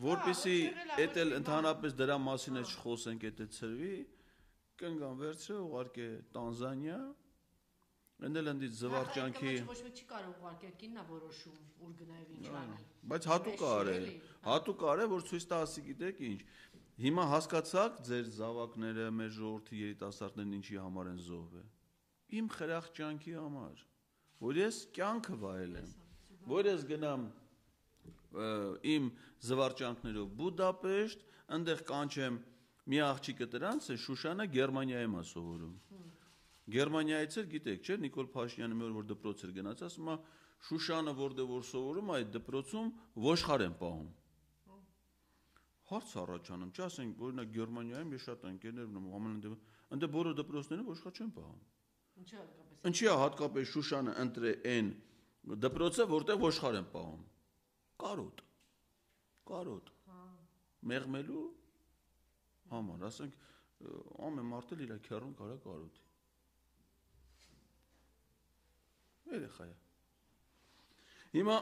Որպեսի էդ էլ ընդհանրապես դրա մասին էլ չխոսենք, էդ ծրվի, կնգան վերցրե ուղարկե Տանզանիա, ընդել ընդից զվարճանքի ոչ մեկ չի կարող ուղարկել, կինն է որոշում, ուր գնա եւ ինչ անել։ Բայց հատուկ արե, որ ցույց տա ասի գիտեք ինչ։ Հիմա հասկացաք ձեր զավակները, մեր ժողովրդի երիտասարդներն ինչի համար են զոհվել։ Իմ խրախճանքի համար, որ ես կյանքը վայելեմ, որ ես գնամ իմ զվարճանքներով Բուդապեշտ, այնտեղ կանչեմ մի աղջիկը դրանց է Շուշանը Գերմանիայում է սովորում։ Գերմանիայից էլ գիտեք, չէ՞, Նիկոլ Փաշինյանը մի օր որ դպրոց էր գնաց, ասում է Շուշանը որտեղ որ սովորում այդ դպրոցում ոշխար են պահում։ Հարց առաջանում, չասենք, օրինակ Գերմանիայում ես շատ ընկերներ ունեմ, ամենանդեպ, այնտեղ բոլոր դպրոցները ոշխար չեն պահում։ Ինչի է հատկապես Շուշանը ընտրե այն դպրոցը, որտեղ ոշխար են պահում։ Կարոտ։ Մեղմելու համար, ասենք, ամեն մարդ էլ իր քեռուն կարա կարոտի։ Երեխա է։ Հիմա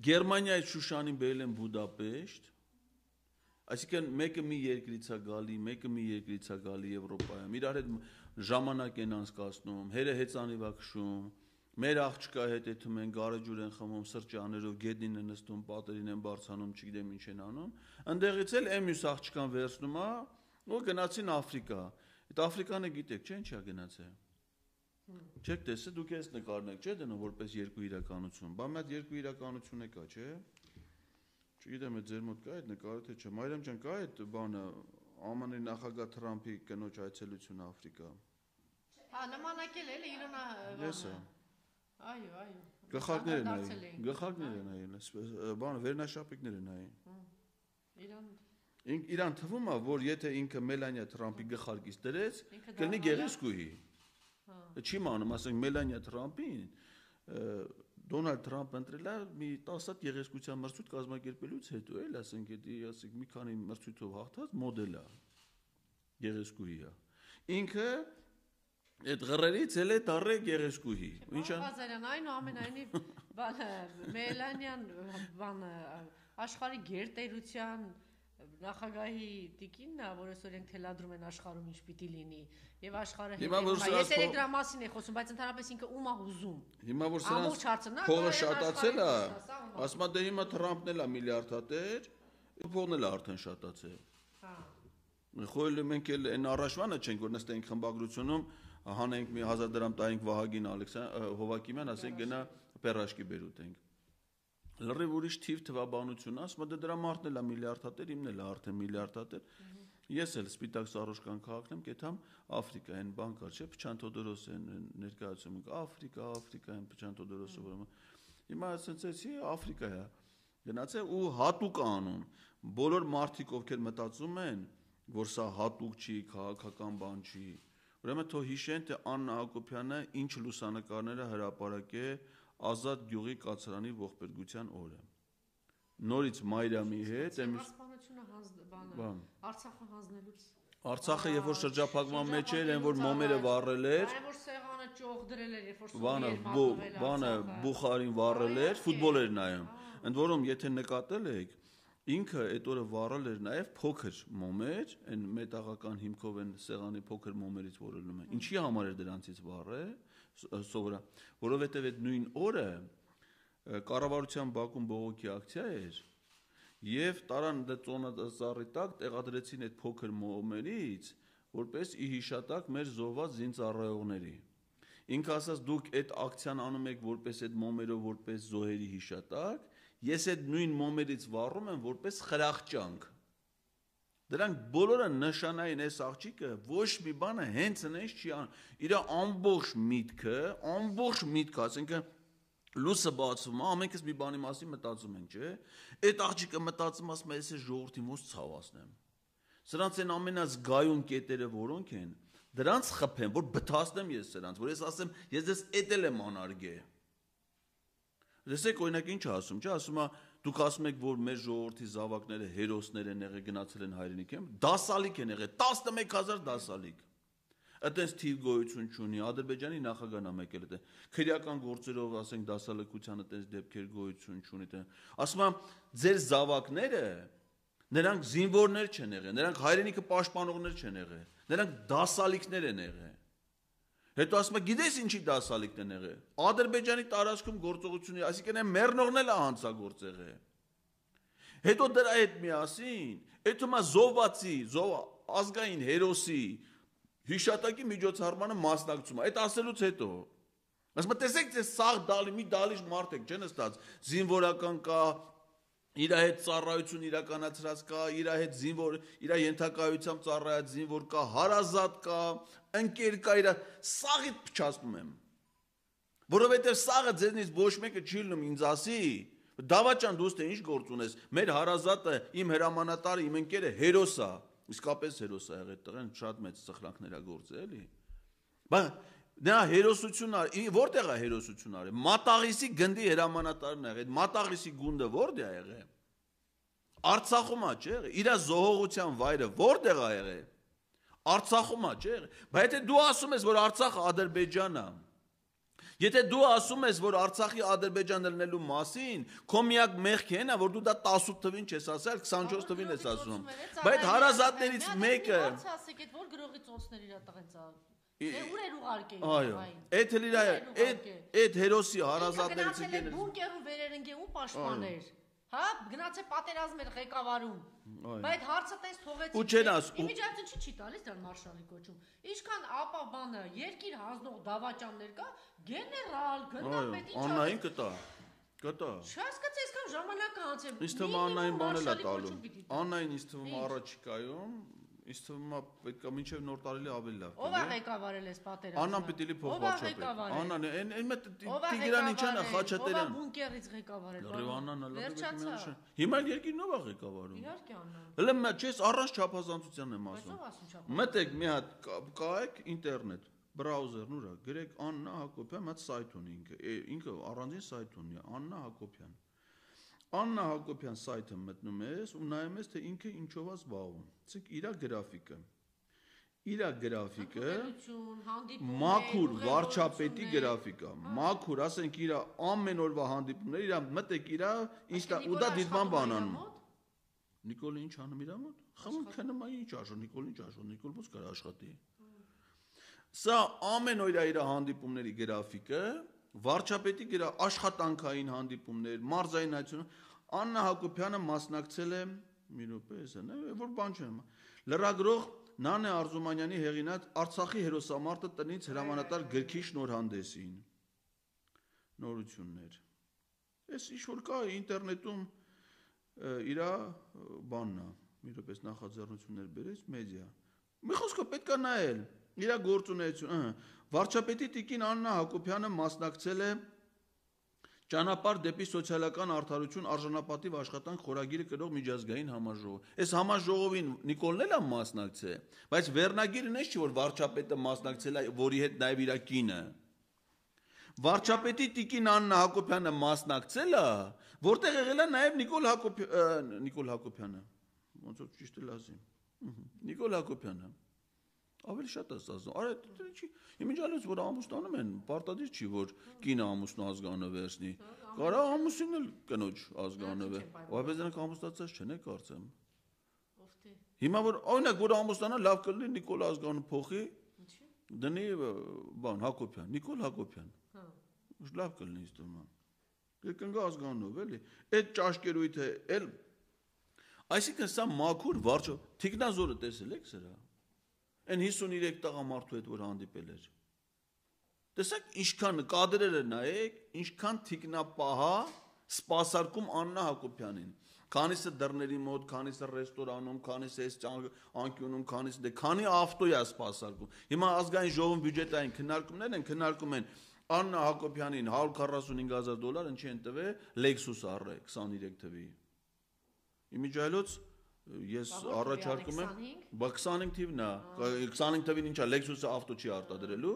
Գերմանիայից Շուշանին բերել են Բուդապեշտ, այսինքն մեկը մի երկրից է գալի, մեկը մի երկրից է գալի Եվրոպայում, իրար հետ ժամանակ են անցկացնում, հերը հեծանիվ է քշում, մեր աղջկա հետ էթում են, գարեջուր են խմում, սրճաներով, գետնին են նստում, պատերին են բարձանում, չգիտեմ ինչ են անում, ընդեղից էլ մյուս աղջկան վերցնում է, ու գնացին Աֆրիկա։ Այդ Աֆրիկանը գիտեք, չէ՞ ինչա գնացել։ Չեք տեսել, դուք ես նկարն եք, չէ՞ դնում որպես երկու իրականություն։ Բա մի հատ երկու իրականություն է կա, չէ՞։ Չգիտեմ, այդ ձեր մոտ կա այդ նկարը թե չէ։ Մարիամ ջան, կա այդ բանը ԱՄՆ-ի նախագահ Թրամփի կնոջ այցելությունը Աֆրիկա։ Հա, նմանակել էլի Իրանա։ Եսա։ Այո։ Գլխարկներ են նայել, բանը վերնաշապիկներ են նայել։ Իրան թվում է, որ եթե ինքը Մելանիա Թրամփի գլխարկից դրեց, կլինի գեղեցկուհի։ Չի մանում, ասենք Մելանիա Թրամփին Դոնալդ Թրամփը ընտրել է մի 10 հատ գեղեցկության մրցույթ կազմակերպելուց հետո, էլ ասենք մի քանի մրցույթով հաղթած մոդել է, գեղեցկուհի է։ Ինքը այդ ղռերից էլ է դառե գեղեցկուհի։ Ինչ է։ Բազարյան, այնուամենայնիվ Մելանիան աշխարհի գերտերության նախագահի տիկինն է, որ այսօր ենք թելադրում են աշխարհում ինչ պիտի լինի, եւ աշխարհը ես դրա մասին եմ խոսում, բայց ընդհանրապես ինքը ում է ուզում։ Հիմա որ սրանց փողը շատացել է, ասում է դե հիմա Թրամփն էլ է միլիարդատեր, փողն էլ է արդեն շատացել։ Հա։ Խոյել մենք էլ այն առաջվանը չենք, որ նստենք խմբագրությունում, հանենք մի 1000 դրամ տայինք Վահագին Հովակիմյան, ասենք գնա պերաշկի բերուտենք։ Լրիվ ուրիշ թիվ թվաբանություն, ասում է դրա մարդն էլ է միլիարդատեր, իմն էլ է արդեն միլիարդատեր։ Ես էլ սպիտակ սարոշկան քաղաքն եմ, կեթամ Աֆրիկա, այն բան կար, չէ՞, Փչան Թոդորոսը ներկայացում ենք, Աֆրիկա, այն Փչան Թոդորոսը, որ հիմա ասեցի Աֆրիկա է։ Գնացել ու հատուկ անում։ Բոլոր մարդիկ ովքեր մտածում են, որ սա հատուկ չի, քաղաքական բան չի։ Ուրեմն թող հիշեն, թե Աննա Հակոբյանը ինչ լուսանկարներ է հրապարակել Ազատ գյուղի կացարանի ողբերգության օրը։ Նորից Մայրամի հետ Արցախը հանձնելուց Արցախը երբ որ շրջափակման մեջ էր, այն որ մոմերը վառել էր, այն որ սեղանը ճոխ դրել էր, երբ որ բանը Բուխարին վառել էր, ֆուտբոլ էր նայում։ Ընդ որում, եթե նկատել եք, ինքը այդ օրը վառել էր նաև փոքր մոմեր, այն մետաղական հիմքով են սեղանի փոքր մոմերից որելնում են։ Ինչի համար էր դրանցից վառել, սովորա, որովհետև այդ նույն օրը կառավարության Բաքվում բողոքի ակցիա էր, եւ տարան ծոնածառի տակ տեղադրեցին այդ փոքր մոմերից, որպես ի հիշատակ մեր զոհված զինծառայողների։ Ինքը ասաց դուք այդ ակցիան անում եք որպես այդ մոմերով որպես զոհերի հիշատակ, ես այդ նույն մոմերից վառում եմ որպես խրախճանք։ Դրանք բոլորը նշանային այս աղջիկը ոչ մի բանը հենց այնպես չի անում։ Իր ամբողջ միտքը, ասենքը լույսը բացվում է, ամենքս մի բանի մասին մտածում ենք, չէ՞։ Այդ աղջիկը մտածում ասում է, ես այս ժողովրդին ոնց ցավացնեմ։ Սրանց այն ամենազգայուն կետերը որոնք են, դրանց խփեմ, որ բթացնեմ ես սրանց, որ ես ասեմ, ես դες էտել եմ անարգե։ Տեսեք, օրինակ ինչ ասում, չէ՞, ասում է, դուք ասում եք, որ մեր ժողովրդի զավակները հերոսներ են եղել, գնացել են հայրենիք, դասալիկ են եղել, 11000 դասալիկ։ Այդպես թիվ գոյություն չունի, Ադրբեջանի նախագահն է եկել այդտեղ։ Քրեական գործերով, ասենք, դասալքության այդպես դեպքեր գոյություն չունի այդտեղ։ Ասում եմ, ձեր զավակները նրանք զինվորներ չեն եղել, նրանք հայրենիքը պաշտպանողներ չեն եղել, նրանք դասալիկներ են եղել։ Հետո ասում եմ, գիտես ինչի դասալիկն են եղել։ Ադրբեջանի տարածքում գործողությունների, այսինքն այն մեռնողն էլ է հանցագործ եղել։ Հետո դրա հետ միասին, այդ թվում է զոհվածի, ազգային հերոսի հիշատակի միջոցառմանը մասնակցում է։ Այդ ասելուց հետո ասում եմ, տեսեք, ձեզ սաղ դալի մի դալիճ մարդ եք, չեն ստաց, զինվորական կա, իր հետ ծառայություն իրականացրած կա, իր հետ զինվոր, իր ենթակայությամբ ծառայած զինվոր կա, հարազատ կա, ընկեր կա, իր սաղիդ փչացնում եմ։ Որովհետև սաղը ձեզնից ոչ մեկը չի լինում ինձ ասի, Դավաճան դու ինչ գործ ունես, մեր հարազատը, իմ հրամանատարը, իմ ընկերը հերոս է, իսկապես հերոս է եղել այդտեղ, շատ մեծ սխրանքներ ա գործել, էլի։ Բայց նա հերոսություն արի, որտեղ է հերոսություն արի։ Մատաղիսի գնդի հրամանատարն ա եղել, Մատաղիսի գունդը որտեղ է եղել։ Արցախում ա չէ եղել, իր զոհողության վայրը որտեղ ա եղել։ Արցախում ա չէ եղել։ Բայց եթե դու ասում ես, որ Արցախը Ադրբեջանն է, եթե դու ասում ես, որ Արցախի Ադրբեջանը լինելու մասին, քո միակ մեղքը այն է, որ դու դա 18 թվին չես ասել, 24 թվին ես ասում։ Բայց հարազատներից մեկը ասեք, այդ որ գրողի ծոցներ իր տղենց ուր էր ուղարկել։ Այո, այդ հերոսի հարազատներից եկել բունկերում վերերնգե ու պաշտպաներ։ Հա, գնացե պատերազմեր ղեկավարում։ Բայց հարցը տես թողեցի։ Ու չեն ասում։ Իմիջիացիա չի տալիս դեռ մարշալի կոչում։ Ինչքան ապա բանը երկիր հանձնող դավաճաններ կա, գեներալ, գնդապետ ինչ։ Աննային կտա։ Չհասկացա, այսքան ժամանակ է անցել։ Ինձ թվում է Աննային բանել է տալու։ Աննային ինձ թվում է առաջիկայում Ինձ թվում է պետք է մինչև նոր տարի ավելի լավ։ Ով է ղեկավարել այս պատերազմը։ Աննան պիտի փոխվարչապետ։ Աննան, այն Տիգրան ինչան է Խաչատրյան։ Ով է բունկերից ղեկավարել։ Աննան լավ։ Հիմա երկիրն ով է ղեկավարում։ Իհարկե Աննան։ Հələ չես առանց չափազանցության եմ ասում։ Մտեք մի հատ կայեք ինտերնետ, բրաուզերն ուրա, գրեք Աննա Հակոբյան, մատ սայթ ունի ինքը առանձին սայթ ունի, Աննա Հակոբյան։ Աննա Հակոբյան սայթը մտնում ես ու նայում ես թե ինքը ինչով է զբաղվում։ Ասենք իր գրաֆիկը մաքուր վարչապետի գրաֆիկա, մաքուր, ասենք իր ամեն օրվա հանդիպումները, իր մտեք իր ինստա ու դա դիտման բանանում։ Նիկոլը ինչ անում իր մոտ։ Խմում քնում է ինչ աշո, Նիկոլ ինչ աշո, Նիկոլ ո՞նց կար աշխատի։ Սա ամեն օր իր հանդիպումների գրաֆիկը, վարչապետի աշխատանքային հանդիպումներ, մարզային հայցություն, Աննա Հակոբյանը մասնակցել է մի րոպե, որ բան չեմ։ Լրագրող Նանե Արզումանյանի հեղինած Արցախի հերոսամարտը տնից հրամանատար գրքի շնորհանդեսին։ Նորություններ։ Այս ինչ որ կա ինտերնետում իր բանն է, մի րոպե նախաձեռնություններ բերես մեդիա։ Մի խոսքով պետք է նայել իր գործունեությունը։ Վարչապետի տիկին Աննա Հակոբյանը մասնակցել է Ճանապարհ դեպի սոցիալական արդարություն արժանապատիվ աշխատանք խորագիրը կրող միջազգային համաժողով։ Այս համաժողովին Նիկոլն էլ է մասնակցել, բայց վերնագիրն էս չի, որ վարչապետը մասնակցել է, որի հետ նաև իր կինը։ Վարչապետի տիկին Աննա Հակոբյանը մասնակցել է, որտեղ եղել է նաև Նիկոլ Հակոբյանը։ Ոնց որ ճիշտ է լազի։ Նիկոլ Հակոբյանը։ Ավելի շատ է ասում։ Արա չի, իմիջիալից որ ամուսնանում են, պարտադիր չի որ կինը ամուսնու ազգանը վերցնի։ Կարա ամուսինն էլ կնոջ ազգանը վեր։ Բայց նրանք ամուսնացած չեն, կարծեմ։ Հիմա որ օրինակ որ ամուսնանա լավ կլինի Նիկոլ ազգանը փոխի։ Դնի բան Հակոբյան, Նիկոլ Հակոբյան։ Լավ կլինի ինձ թվում է։ Կգնա ազգանով էլի։ Այդ ճաշկերույթը էլ այսինքն սա մաքուր վարչո Թիկնազորը տեսել եք սրա։ Այն 53 տղամարդու հետ որ հանդիպել էր։ Տեսեք ինչքան կադրերը նայեք, ինչքան թիկնապահա սպասարկում Աննա Հակոբյանին։ Քանիսը դռների մոտ, քանիսը ռեստորանում, քանիսը այս անկյունում, քանիսը քանի ավտո է սպասարկում։ Հիմա ազգային ժողովում բյուջետային քննարկումներ են, քննարկում են Աննա Հակոբյանին $145,000 ինչի են տվել Lexus առը 23 թվի։ Իմիջիալոց ես առաջարկում եմ 25 թիվն է 25 թվին ինչա Lexus-ը ավտո չի արտադրելու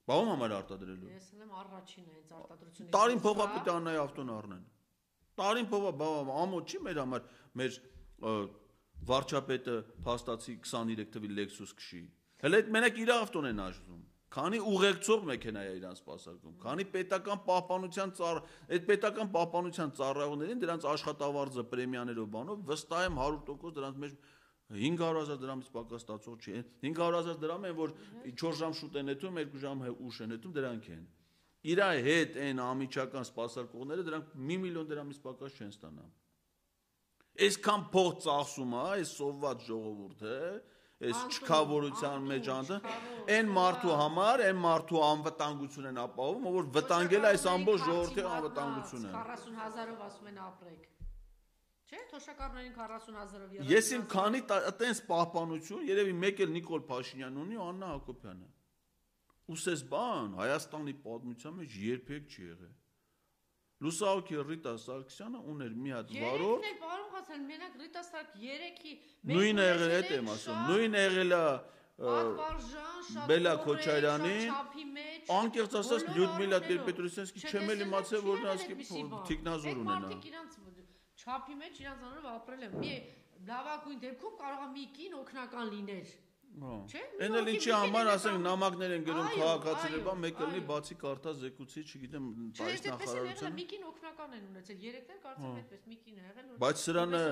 բաղում համար արտադրելու ես եմ առաջինը հենց արտադրությունը տարին փողա պետք է Աննայի ավտոն առնեն տարին փողա ամոթ չի մեր համար մեր վարչապետը փաստացի 23 թվի Lexus քշի Հələ այդ մենակ իր ավտոն են աշխատում։ Քանի ուղեկցող մեքենա է իրան սպասարկում, քանի պետական պահպանության այդ պետական պահպանության ծառայողներին դրանց աշխատավարձը պրեմիաներով բանով վստահ եմ 100% դրանց մեջ 500,000 դրամից պակաս ստացող չի։ 500,000 դրամ են, որ 4 ժամ շուտ են նետում, 2 ժամ ուշ են նետում, դրանք են։ Իր հետ այն ամիջական սպասարկողները դրանք 1 միլիոն դրամից պակաս չեն ստանա։ Այսքան փող ծախսում է այս սովված ժողովուրդը, այս չքավորության մեջ անդը, այն մարդու համար, այն մարդու անվտանգություն են ապահովում, որ վտանգել է այս ամբողջ ժողովրդի անվտանգությունը։ 40,000-ով ասում են ապրեք։ Չէ, թոշակառուներին 40,000-ով։ Ես իմ քանի այտենց պահպանություն, երևի մեկ էլ Նիկոլ Փաշինյանն ունի ու Աննա Հակոբյանը։ Ուսես բան Հայաստանի պատմության մեջ երբեք չի եղել։ Լուսահոգի Ռիտա Սարգսյանը ուներ մի հատ վարորդ։ Երեքն էլ պարոն Ղազարյան, մենակ Ռիտա Սարգսյանը 3-ի նույնը եղել է, եմ ասում, նույնը եղել է Բելա Քոչարյանին, անկեղծ ասած Լյուդմիլա Տեր-Պետրոսյանսկի չեմ էլ իմացել, որ նրանց թիկնազոր ունենա։ Մարդիկ իրանց չափի մեջ իրանց անունով ապրել են։ Մի լավագույն դեպքում կարող է մի կին օգնական լիներ։ Չէ՞։ Էն էլ ինչի համար ասենք նամակներ են գրում քաղաքացիներ, բան մեկ էլ բացի կարտա զեկուցի, չգիտեմ, այս նախարարության։ Մի կին օգնական են ունեցել, երեքներ կարծեմ այդպես մի կին է եղել։ Բայց սրանը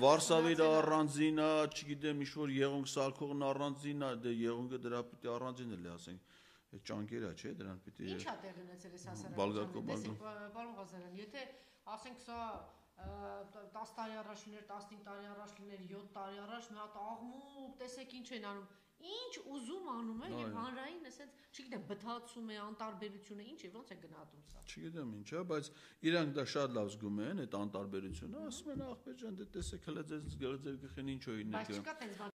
Վարշավիրա առանձին է, չգիտեմ, ինչ որ Եղունգ Սալքողն առանձին է, դե Եղունգը դրա պիտի առանձին էլ է, ասենք, այդ ճանկերը չէ, դրան պիտի։ Ինչ է տեղ ունեցել այս հասարակության։ Պարոն Ղազարյան, եթե ասենք սա 10 տարի առաջ լիներ, 15 տարի առաջ լիներ, 7 տարի առաջ մի հատ աղմուկ, տեսեք ինչ են անում, ինչ ուզում անում է եւ հանրային ասենց, չգիտեմ, բթացում է, անտարբերությունը, ինչ է, ոնց է գնահատում սա։ Չգիտեմ ինչ է, բայց իրանք դա շատ լավ զգում են այդ անտարբերությունը, ասում են ախպեր ջան, դե տեսեք հələ ձեր գլխին ինչ օ ինեք։ Բայց չկա տենց